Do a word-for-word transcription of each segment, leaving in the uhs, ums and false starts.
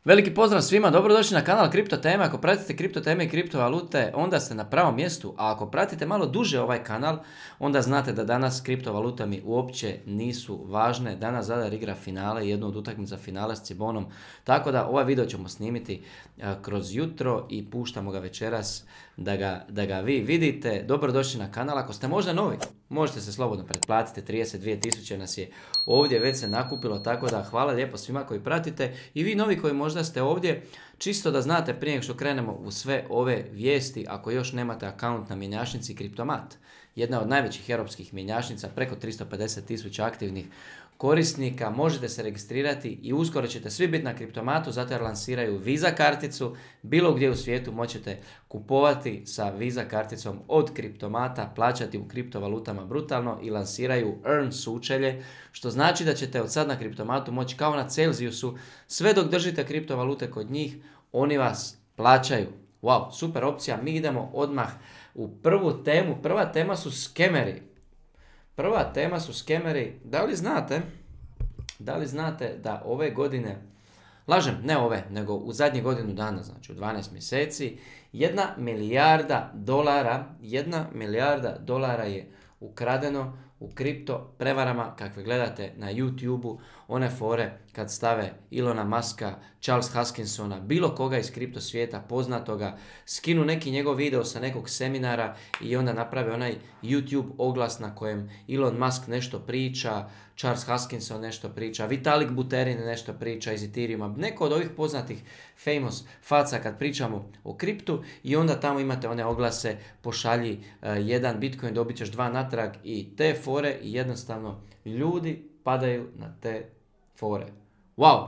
Veliki pozdrav svima, dobrodošli na kanal Kripto Teme. Ako pratite kripto teme i kriptovalute, onda ste na pravom mjestu. A ako pratite malo duže ovaj kanal, onda znate da danas kriptovalute mi uopće nisu važne. Danas Zadar igra finale, jednu od utakmica finale s Cibonom. Tako da ovaj video ćemo snimiti kroz jutro i puštamo ga večeras da ga, da ga vi vidite. Dobrodošli na kanal. Ako ste možda novi, možete se slobodno pretplatiti. trideset dvije tisuće nas je ovdje već se nakupilo, tako da hvala lijepo svima koji pratite i vi novi koji možda ste ovdje, čisto da znate prije nego što krenemo u sve ove vijesti, ako još nemate akaunt na mjenjačnici Kriptomat, jedna od najvećih europskih mjenjačnica, preko tristo pedeset tisuća aktivnih korisnika, možete se registrirati i uskoro ćete svi biti na Kriptomatu, zato jer lansiraju Visa karticu, bilo gdje u svijetu možete kupovati sa Visa karticom od Kriptomata, plaćati u kriptovalutama brutalno i lansiraju Earn sučelje, što znači da ćete od sad na Kriptomatu moći kao na Celsiusu, sve dok držite kriptovalute kod njih, oni vas plaćaju. Wow, super opcija, mi idemo odmah u prvu temu. Prva tema su skemeri. Prva tema su skemeri. Da li znate, da li znate da ove godine, lažem, ne ove, nego u zadnjih godinu dana, znači u dvanaest mjeseci, jedna milijarda dolara, jedna milijarda dolara je ukradeno u kripto prevarama kakve gledate na YouTubeu, one fore kad stave Ilona Muska, Charles Huskinsona, bilo koga iz kripto svijeta poznatoga, skinu neki njegov video sa nekog seminara i onda naprave onaj YouTube oglas na kojem Elon Musk nešto priča, Charles Huskinson nešto priča, Vitalik Buterin nešto priča iz Ethereuma, neko od ovih poznatih famous faca kad pričamo o kriptu i onda tamo imate one oglase, pošalji uh, jedan Bitcoin, dobit ćeš dva natrag i te fore i jednostavno ljudi padaju na te fore. Wow,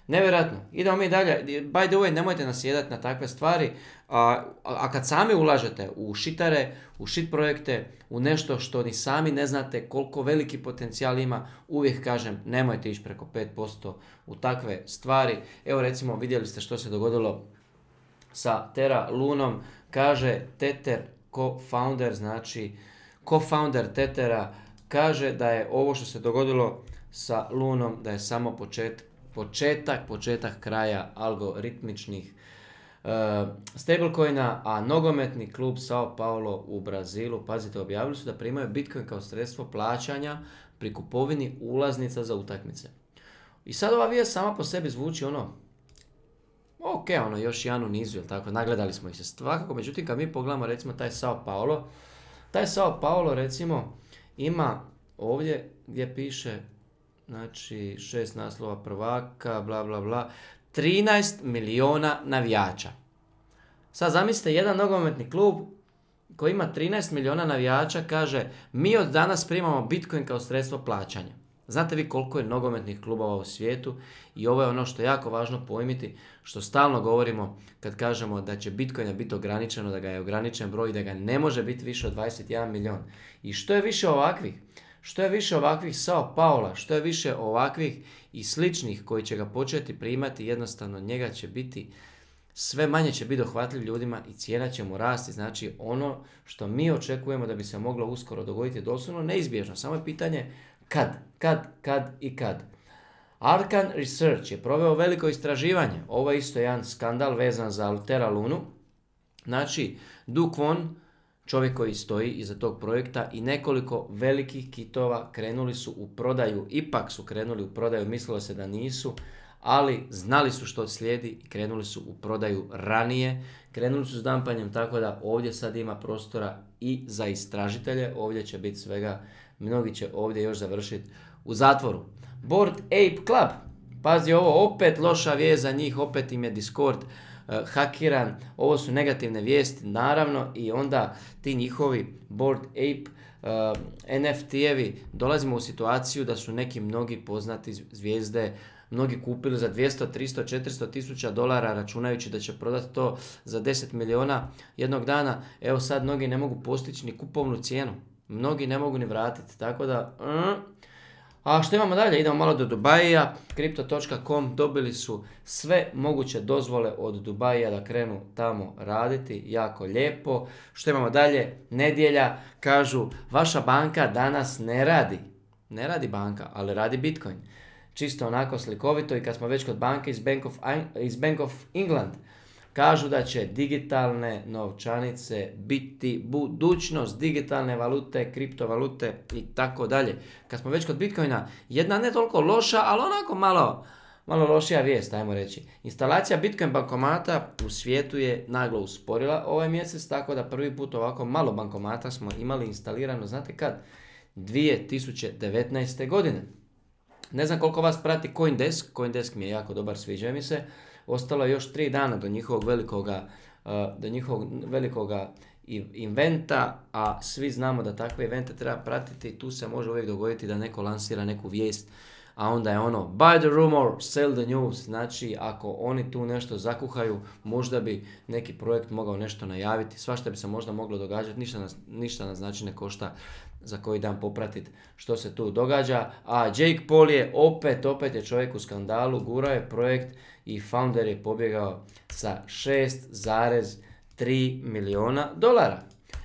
nevjerojatno. Idemo mi dalje. By the way, nemojte nasjedati na takve stvari. A, a kad sami ulažete u šitare, u shit projekte, u nešto što ni sami ne znate koliko veliki potencijal ima, uvijek kažem nemojte ići preko pet posto u takve stvari. Evo recimo vidjeli ste što se dogodilo sa Terra Lunom. Kaže Tether co-founder, znači co-founder Tethera, kaže da je ovo što se dogodilo sa Lunom, da je samo počet, početak, početak kraja algoritmičnih uh, stablecoina, a nogometni klub Sao Paulo u Brazilu, pazite, objavili su da primaju Bitcoin kao sredstvo plaćanja pri kupovini ulaznica za utakmice. I sad ova vijest sama po sebi zvuči ono, ok, ono još jedan u nizu, jel tako, nagledali smo ih se svakako, međutim kad mi pogledamo recimo taj Sao Paulo, taj Sao Paulo recimo ima ovdje gdje piše, znači šest naslova prvaka, bla bla bla, trinaest milijuna navijača. Sad zamislite jedan nogometni klub koji ima trinaest milijuna navijača, kaže mi od danas primamo Bitcoin kao sredstvo plaćanja. Znate vi koliko je nogometnih klubova u svijetu i ovo je ono što je jako važno pojmiti, što stalno govorimo kad kažemo da će Bitcoina biti ograničeno, da ga je ograničen broj i da ga ne može biti više od dvadeset jedan milijun. I što je više ovakvih, što je više ovakvih Sao Paula, što je više ovakvih i sličnih koji će ga početi primati, jednostavno njega će biti, sve manje će biti dohvatljiv ljudima i cijena će mu rasti. Znači ono što mi očekujemo da bi se moglo uskoro dogoditi je doslovno neizbježno. Samo je pitanje kad, kad, kad i kad. Arcan Research je proveo veliko istraživanje. Ovo je isto jedan skandal vezan za Terra Lunu. Znači, Duke Kwon, čovjek koji stoji iza tog projekta i nekoliko velikih kitova krenuli su u prodaju, ipak su krenuli u prodaju, mislilo se da nisu, ali znali su što slijedi i krenuli su u prodaju ranije, krenuli su s dampanjem, tako da ovdje sad ima prostora i za istražitelje, ovdje će biti svega, mnogi će ovdje još završiti u zatvoru. Bored Ape Club, pazi ovo, opet loša vijest za njih, opet im je Discord uh, hakiran, ovo su negativne vijesti naravno i onda ti njihovi Bored Ape uh, N F T-evi, dolazimo u situaciju da su neki mnogi poznati zvijezde mnogi kupili za dvjesto, tristo, četiristo tisuća dolara računajući da će prodati to za deset milijuna jednog dana. Evo sad mnogi ne mogu postići ni kupovnu cijenu. Mnogi ne mogu ni vratiti. Tako da... Mm. A što imamo dalje? Idemo malo do Dubaija. Crypto točka com dobili su sve moguće dozvole od Dubaija da krenu tamo raditi. Jako lijepo. Što imamo dalje? Nedjelja. Kažu, vaša banka danas ne radi. Ne radi banka, ali radi Bitcoin. čisto onako slikovito. I kad smo već kod banke iz Bank of, iz Bank of England, kažu da će digitalne novčanice biti budućnost, digitalne valute, kriptovalute i tako dalje. Kad smo već kod Bitcoina, jedna ne toliko loša, ali onako malo, malo lošija vijest, ajmo reći. Instalacija Bitcoin bankomata u svijetu je naglo usporila ovaj mjesec, tako da prvi put ovako malo bankomata smo imali instalirano, znate kad? dvije tisuće devetnaeste. godine. Ne znam koliko vas prati Coindesk, Coindesk mi je jako dobar, sviđa mi se. Ostalo je još tri dana do njihovog velikoga, do njihovog velikoga inventa, a svi znamo da takve evente treba pratiti. Tu se može uvijek dogoditi da neko lansira neku vijest, a onda je ono buy the rumor, sell the news. Znači, ako oni tu nešto zakuhaju, možda bi neki projekt mogao nešto najaviti. Svašta bi se možda moglo događati, ništa nas, ništa nas znači ne košta za koji dan popratiti što se tu događa. A Jake Paul je opet, opet je čovjek u skandalu, gurao je projekt i founder je pobjegao sa šest zarez tri milijuna dolara.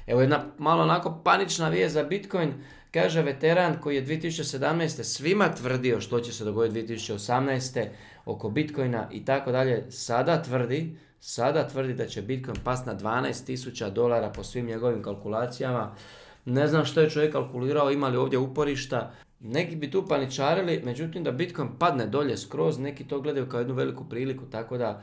Evo jedna malo onako panična vijest za Bitcoin. Kaže veteran koji je dvije tisuće sedamnaeste. svima tvrdio što će se dogoditi dvije tisuće osamnaeste. oko Bitcoina i tako dalje. Sada tvrdi, sada tvrdi da će Bitcoin pasti na dvanaest tisuća dolara po svim njegovim kalkulacijama. Ne znam što je čovjek kalkulirao, ima li ovdje uporišta. Neki bi tu paničarili, međutim da Bitcoin padne dolje skroz, neki to gledaju kao jednu veliku priliku, tako da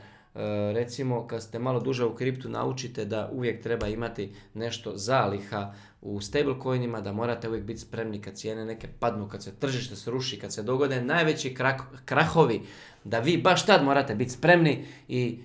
recimo kad ste malo duže u kriptu naučite da uvijek treba imati nešto zaliha u stablecoinima, da morate uvijek biti spremni kad cijene neke padnu, kad se tržište sruši, kad se dogode najveći krak, krahovi, da vi baš tad morate biti spremni i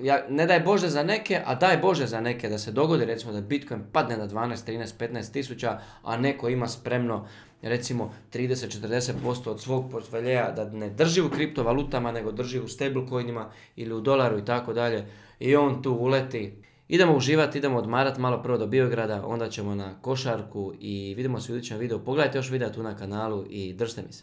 ja, ne daj Bože za neke, a daj Bože za neke da se dogodi recimo da Bitcoin padne na dvanaest, trinaest, petnaest tisuća, a neko ima spremno recimo trideset do četrdeset posto od svog portfelja da ne drži u kriptovalutama, nego drži u stablecoinima ili u dolaru i tako dalje. I on tu uleti. Idemo uživati, idemo odmarati malo prvo do Biograda, onda ćemo na košarku i vidimo se u idućem videu. Pogledajte još videa tu na kanalu i držite mi se.